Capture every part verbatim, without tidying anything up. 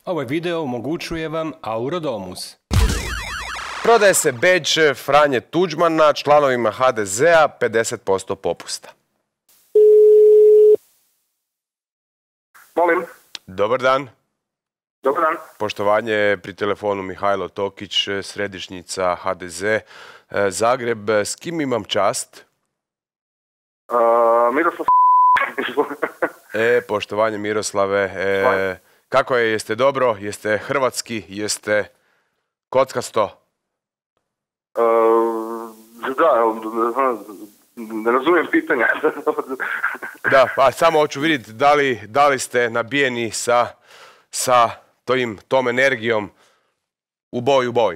Ovaj video omogućuje vam Aurodomus. Prodaje se bedž Franje Tuđmana članovima ha de zea pedeset posto popusta. Molim. Dobar dan. Dobar dan. Poštovanje, pri telefonu Mihajlo Tokić, središnjica ha de ze Zagreb. S kim imam čast? Uh, Miroslav. E, poštovanje Miroslave. E, kako je, jeste dobro? Jeste hrvatski? Jeste kockasto? Uh, da, ne razumijem pitanja. Da, pa samo hoću vidjeti da li, da li ste nabijeni sa, sa tojim, tom energijom u boj, u boj.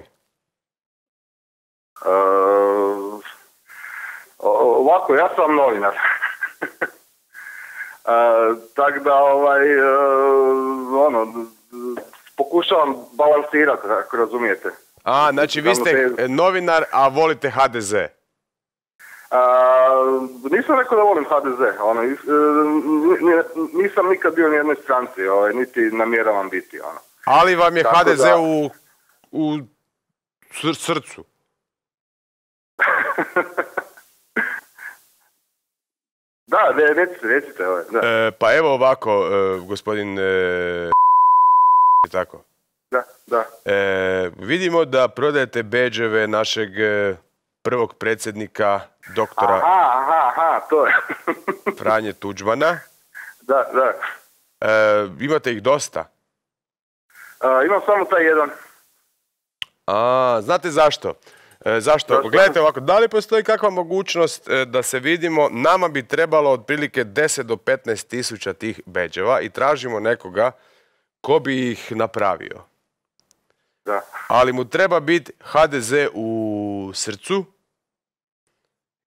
Uh, ovako, ja sam novinar. Uh, tako da, ovaj, uh, ono, pokušavam balansirati, ako razumijete. A, znači vi ste novinar, a volite ha de ze. Uh, nisam rekao da volim ha de ze, ono, uh, nisam nikad bio u nijednoj stranci, ovaj, niti namjeravam biti, ono. Ali vam je tako ha de ze da... u, u sr srcu. Da, ne, recite, recite, ovaj, da. E, pa evo ovako, e, gospodin e, tako. Da, da. E, vidimo da prodajete bedževe našeg e, prvog predsjednika, doktora aha, aha, aha, to je. Franje Tuđmana. Da, da. E, imate ih dosta? Uh, imam samo taj jedan. A, znate zašto? E, zašto? Zašto? Gledajte ovako, da li postoji kakva mogućnost e, da se vidimo? Nama bi trebalo otprilike deset do petnaest tisuća tih bedževa i tražimo nekoga ko bi ih napravio. Da. Ali mu treba biti ha de ze u srcu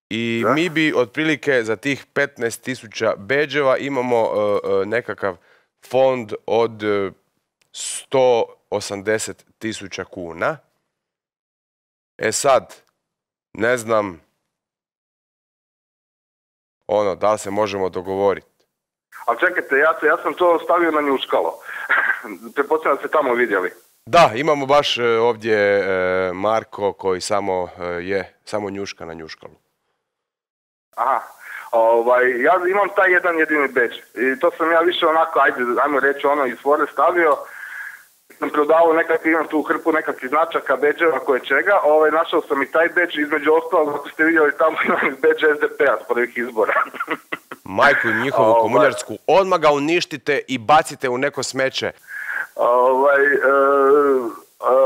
i Da. mi bi otprilike za tih petnaest tisuća bedževa imamo uh, uh, nekakav fond od uh, sto osamdeset tisuća kuna. E sad, ne znam, ono, da li se možemo dogovoriti. Ali čekajte, ja, ja sam to stavio na njuškalo. Pretpostavljam da ste tamo vidjeli. Da, imamo baš uh, ovdje uh, Marko koji samo uh, je, samo njuška na njuškalu. Aha. Ovaj, ja imam taj jedan jedini bedž. I to sam ja više onako, ajde, ajmo reći ono, iz fore stavio. Sam prodavao nekakvi, imam tu hrpu nekakvih značaka, bedževa, koje čega. Ovaj, našao sam i taj bedž, između ostalog, ako ste vidjeli tamo imam bedž es de pe a s prvih izbora. Majku njihovu Ovaj. komunjarsku, odmah ga uništite i bacite u neko smeće. Ovaj, e, e,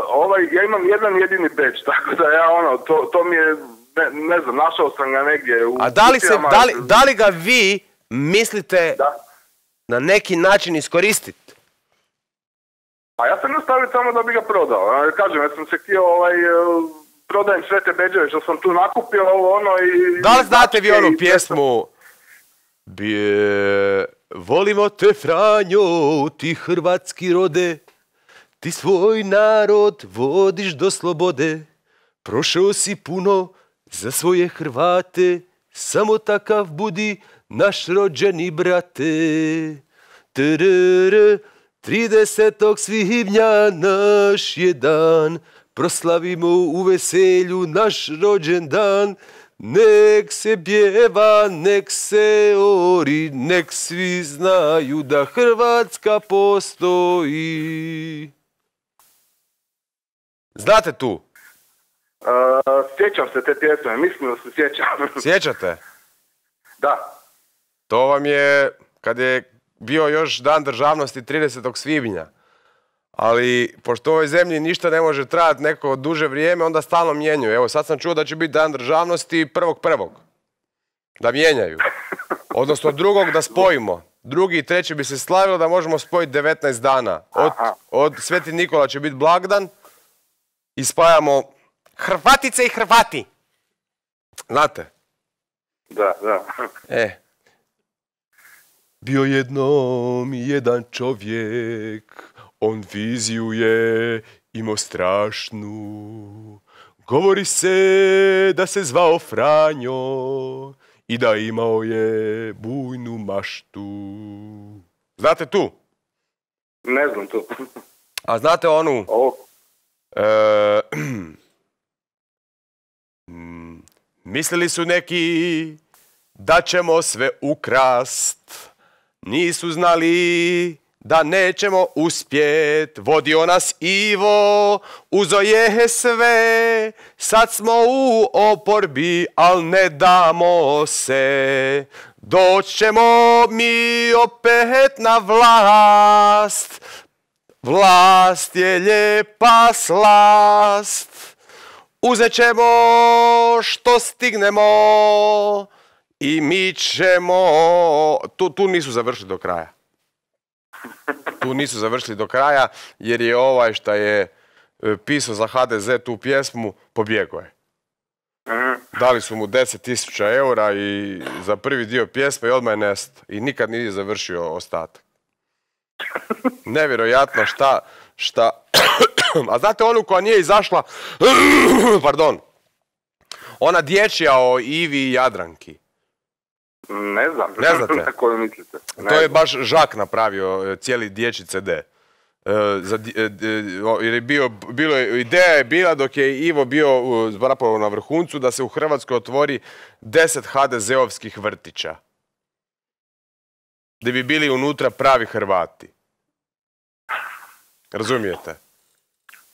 ovaj, ja imam jedan jedini bedž, tako da ja ono, to, to mi je, ne, ne znam, našao sam ga negdje u... A da li, se, kutijama. da li, da li ga vi mislite Da. na neki način iskoristiti? A ja sam nastavio tamo da bi ga prodao. A, kažem, ja sam se htio, ovaj, e, prodajem sve te bedževe što sam tu nakupio, ovo ono i... Da li znate vi značke onu i sve pjesmu Bje, volimo te Franjo, ti hrvatski rode, ti svoj narod vodiš do slobode, prošao si puno za svoje Hrvate, samo takav budi naš rođeni brate. Trrr, tridesetog svibnja naš je dan, proslavimo u veselju naš rođendan. Nek se pjeva, nek se ori, nek svi znaju da Hrvatska postoji. Znate tu? Uh, sjećam se te pjesme, mislim da se sjećam. Sjećate? Da. To vam je, kad je bio još dan državnosti tridesetog svibnja. Ali, pošto u ovoj zemlji ništa ne može trajati neko duže vrijeme, onda stalno mijenjaju. Evo, sad sam čuo da će biti dan državnosti prvog prvog. Da mijenjaju. Odnosno drugog da spojimo. Drugi i treći bi se slavilo da možemo spojiti devetnaest dana. Od, od Sveti Nikola će biti blagdan i spajamo Hrvatice i Hrvati. Znate? Da, da. E. Bio jednom jedan čovjek, on viziju je imao strašnu. Govori se da se zvao Franjo i da imao je bujnu maštu. Znate tu? Ne znam tu. A znate onu... O, E, mislili su neki da ćemo sve ukrast, nisu znali da nećemo uspjet, vodio nas Ivo, uzo je sve, sad smo u oporbi, al ne damo se, doćemo mi opet na vlast, vlast je lijepa slast, uzet ćemo što stignemo i mi ćemo... Tu, tu nisu završili do kraja. Tu nisu završili do kraja jer je ovaj šta je pisao za ha de ze tu pjesmu pobjegao je. Dali su mu deset tisuća eura i za prvi dio pjesme i odmah je nestao. I nikad nije završio ostatak. Nevjerojatno šta... šta... A znate onu koja nije izašla... Pardon. Ona dječja o Ivi i Jadranki. ne znam. Ne znate? Na koju mislite? Ne To je znam. baš Žak napravio cijeli dječji ce de. E, za, di- e, e, jer je bio, bilo je, ideja je bila dok je Ivo bio uh, zapravo na vrhuncu da se u Hrvatskoj otvori deset ha de zeovskih vrtića. Gdje bi bili unutra pravi Hrvati. Razumijete?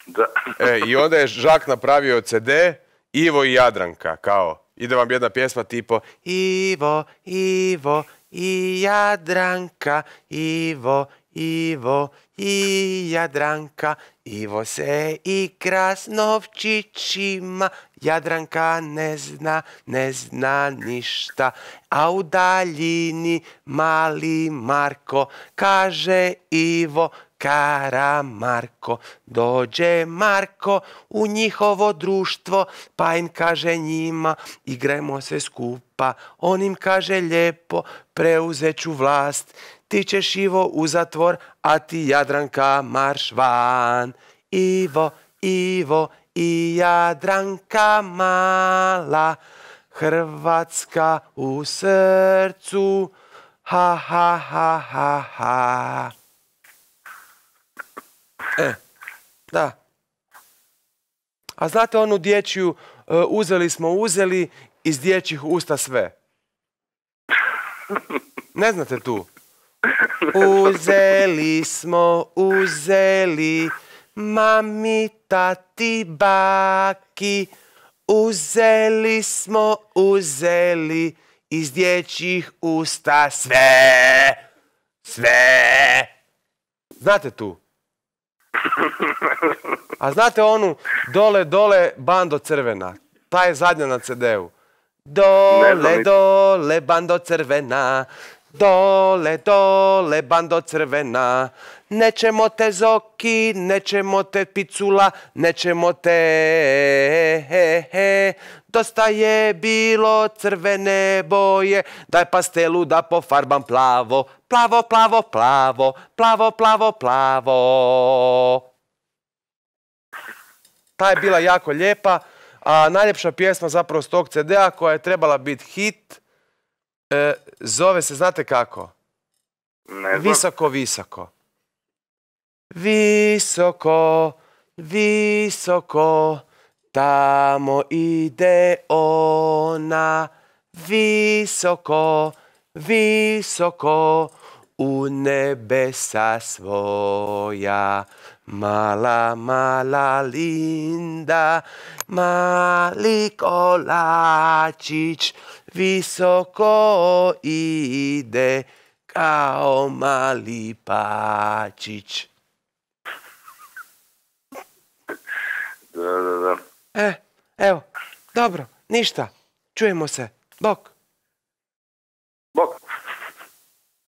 Da. E, i onda je Žak napravio ce de Ivo i Jadranka, kao, ide vam jedna pjesma tipo Ivo, Ivo i Jadranka, Ivo, Ivo i Jadranka, Ivo se igra s novčićima, Jadranka ne zna, ne zna ništa, a u daljini mali Marko kaže Ivo, Karamarko, dođe Marko u njihovo društvo, pa im kaže njima, igrajmo sve skupa, on im kaže lijepo, preuzet ću vlast, ti ćeš Ivo u zatvor, a ti Jadranka marš van. Ivo, Ivo i Jadranka mala, Hrvatska u srcu, ha ha ha ha ha. E, da. A znate onu dječju, uh, uzeli smo, uzeli iz dječjih usta sve. Ne znate tu? Uzeli smo, uzeli, mami, tati, baki, uzeli smo, uzeli iz dječjih usta sve, sve. Znate tu? A znate onu dole, dole, bando crvena? Ta je zadnja na ce de u. Dole, dole, bando crvena, dole, dole, bando crvena, nećemo te Zoki, nećemo te Picula, nećemo te, he, he. Dosta je bilo crvene boje, daj pastelu da pofarbam plavo, plavo, plavo, plavo, plavo, plavo, plavo. Ta je bila jako lijepa, a najljepša pjesma zapravo s tog ce de a koja je trebala biti hit, e, zove se, znate kako? Ne znam. Visoko, visoko. Visoko, visoko, tamo ide ona. Visoko, visoko, u nebesa svoja. Mala, mala Linda, mali kolačić, visoko ide kao mali pačić. Da, da, da. E, evo, dobro, ništa, čujemo se, bok. Bok.